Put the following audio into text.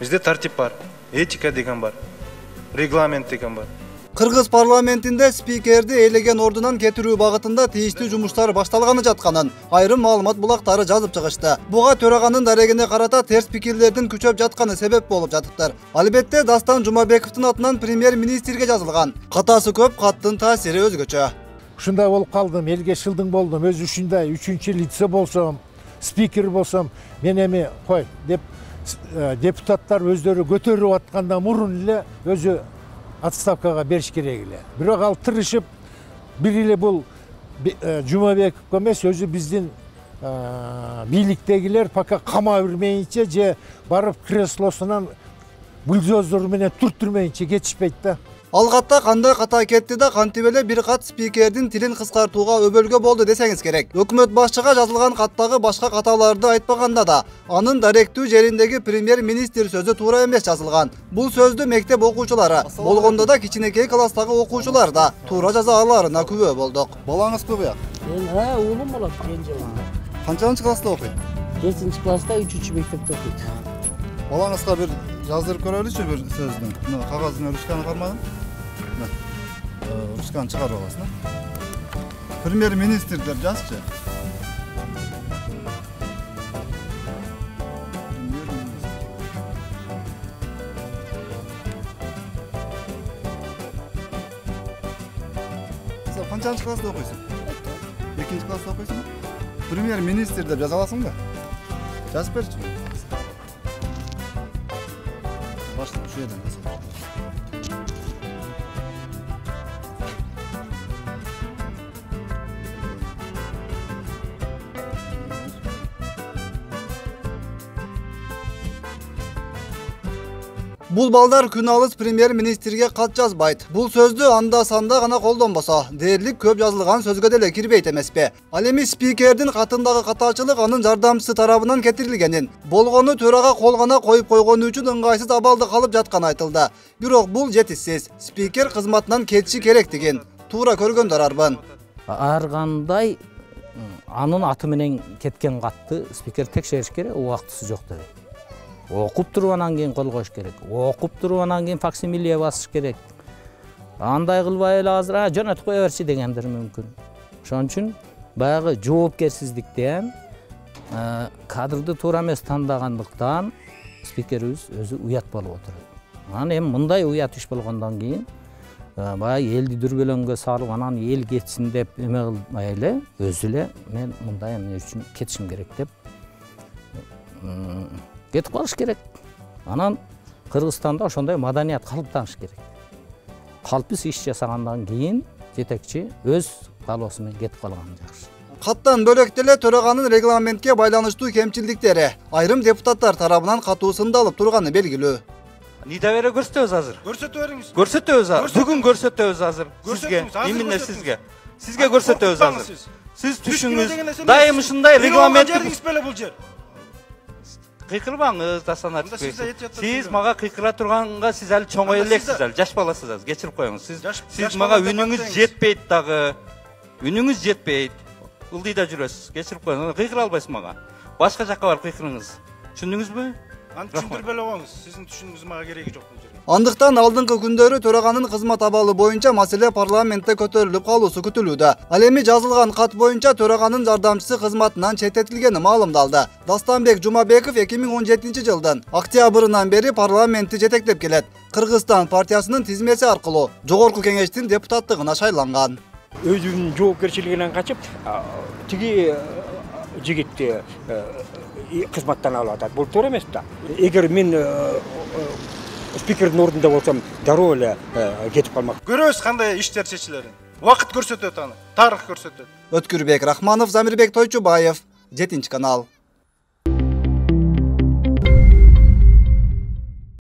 Бизде тартип бар, этика деген бар, регламент деген бар. Кыргыз парламентинде спикерди ээлеген ордунан кетирүү багытында тийиштүү жумуштар башталганы жатканын айрым маалымат булактары жазып чыгышты. Буга төраганын дарегине карата терс пикирлердин күчөп жатканы себеп болуп жатыптыр. Албетте Дастан Жумабековдун атынан премьер-министрге жазылган катасы көп каттын таасири өзгөчө. Ушундай болуп калдым, элге шылдың болдум. Өз ушундай 3-лице болсом, спикер болсом, мен эми кой деп депутаттар өздөрү көтөрүп атканда мурун эле өзү отставкага бериш керек эле. Бирок ал тырышып, бир эле бул Жумабековго эмес, өзү биздин бийликтегилер пока кама бермейинче же барып креслосунан бульдозер менен түртүрмейинче кетишпейт да. Алгатта кандай ката кетти да кантип эле бир кат спикердин тилин кыскартууга өбөлгө болду десеңиз керек. Өкмөт башчыга жазылган каттагы башка каталарды айтпаганда да анын даректүү жериндеги премьер-министр сөзү туура эмес жазылган. Бул сөздү мектеп окуучулары, болгондо да кичинекей класстагы окуучулар да туура жаза аларына күбө болдук. Балаңыз көбү? Уулум болот, кенже балам. Канчанчы класста окуйт? 7-класста 3-мектепте окуйт. Балаңызга бир жаздырып көрөлүчү бир сөздү. Мына кагазына ручканы кармадым. Ручканы чыгарып аласың. Премьер-министр деп жазчы. Сен канчанчы класста окуйсуң? 2-класста окуйсуң? Премьер-министр деп жаза аласың да? Жазып берчи. Башла, шу жерден жазып. Бул балдар күн алыс премьер-министрге кат жазбайт. Бул сөздү анда-санда гана колдонбосо, дээрлик көп жазылган сөзгө деле кирбейт эмеспи? Ал эми спикердин катындагы катачылык анын жардамчысы тарабынан кетирилгенин, болгону төрага кол гана коюп койгону үчүн ыңгайсыз абалда калып жатканы айтылды. Бирок бул жетишсиз. Спикер кызматынан кетиши керектигин туура көргөндөр арбын. Ар кандай анын аты менен кеткен катты спикер текшериш керек, убактысы жок деп. Окуп туруп анан кийин кол коюш керек. Окуп туруп анан кийин факсимиле басыш керек. Андай кылбай эле азыр жөнөтүп кое берчи дегендер мүмкүн. Ошон үчүн баягы жоопкерсиздиктен кадрды туура эмес тандагандыктан спикерибиз өзү уят болуп отурат. Анан эми мындай уят иш болгондон кийин баягы элди дүрбөлөңгө салып анан эл кетсин деп эме кылбай эле өзү эле мен мындай эмне үчүн кетишим керек деп кетип калыш керек. Анан Кыргызстанда ошондой маданият калыптаныш керек. Калпсыз иш жасагандан кийин жетекчи өз каалоосу менен кетип калган жакшы. Каттан бөлөк деле төраганын регламентке байланыштуу кемчилдиктери айрым депутаттар тарабынан катуу сындалып турганы белгилүү. Недоверие көрсөтөбүз азыр. Көрсөтө бериңиз. Көрсөтөбүз азыр. Бүгүн көрсөтөбүз азыр. Сизге, именно сизге. Сизге көрсөтөбүз азыр. Сиз түшүңүз дайым ушундай регламент беле бул жер. Кыйкырбаңыз, Дастан Арыспек. Сиз мага кыйкыра турганга сиз али чоңой элексиз, али жаш баласыз азыр, кечирип коюңуз. Сиз мага үнүңүз жетпейт дагы. Үнүңүз жетпейт. Ылдыйда жүрөсүз, кечирип коюңуз. Кыйкыра албайсыз мага. Башка жакка барып кыйкырыңыз. Түшүндүңүзбү? Аны түшүндүрүп эле коюңуз. Сиздин түшүнүүңүз мага кереги жок бул жерде. Андыктан алдыңкы күндөрү төраганын кызмат абалы боюнча маселе парламентте көтөрүлүп калуусу күтүлүүдө. Ал эми жазылган кат боюнча төраганын жардамчысы кызматынан четтетилгени маалымдалды. Дастанбек Жумабеков 2017-жылдын октябрынан бери парламентти жетектеп келет. Кыргызстан партиясынын тизмеси аркылуу жогорку кеңештин депутаттыгына шайланган. Өзүнүн жоопкерчилигинен качып, тиги жигитти кызматтан алып атат. Бул туура эмес да. Эгер мен спикердин ордунда болсом, дароо эле кетип калмак. Көрөбүз кандай иштер чечилерин. Убакыт көрсөтөт аны, тарых көрсөтөт. Өткүрбек Рахманов, Замирбек Тойчубаев, 7 канал.